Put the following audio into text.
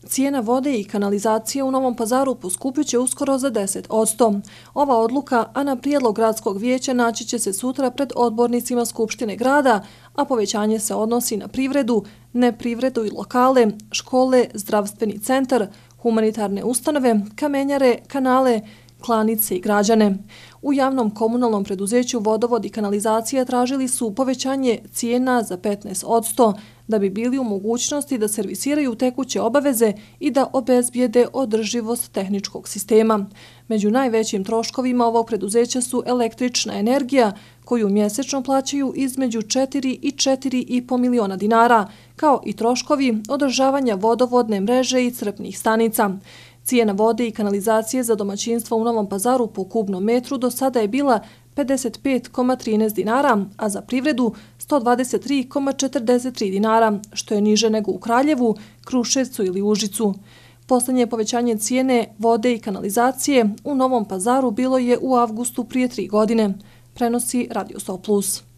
Cijena vode i kanalizacije u Novom Pazaru poskupit će uskoro za 10%. Ova odluka, a na prijedlog gradskog vijeća, naći će se sutra pred odbornicima Skupštine grada, a povećanje se odnosi na privredu, neprivredu i lokale, škole, zdravstveni centar, humanitarne ustanove, kamenjare, kanale, klanice i građane. U javnom komunalnom preduzeću Vodovod i kanalizacija tražili su povećanje cijena za 15%, da bi bili u mogućnosti da servisiraju tekuće obaveze i da obezbijede održivost tehničkog sistema. Među najvećim troškovima ovog preduzeća su električna energija, koju mjesečno plaćaju između 4 i 4,5 miliona dinara, kao i troškovi održavanja vodovodne mreže i crpnih stanica. Cijena vode i kanalizacije za domaćinstvo u Novom Pazaru po kubnom metru do sada je bila 55,13 dinara, a za privredu 123,43 dinara, što je niže nego u Kraljevu, Kruševcu ili Užicu. Poslednje povećanje cijene vode i kanalizacije u Novom Pazaru bilo je u avgustu prije 3 godine, prenosi Radio 100+.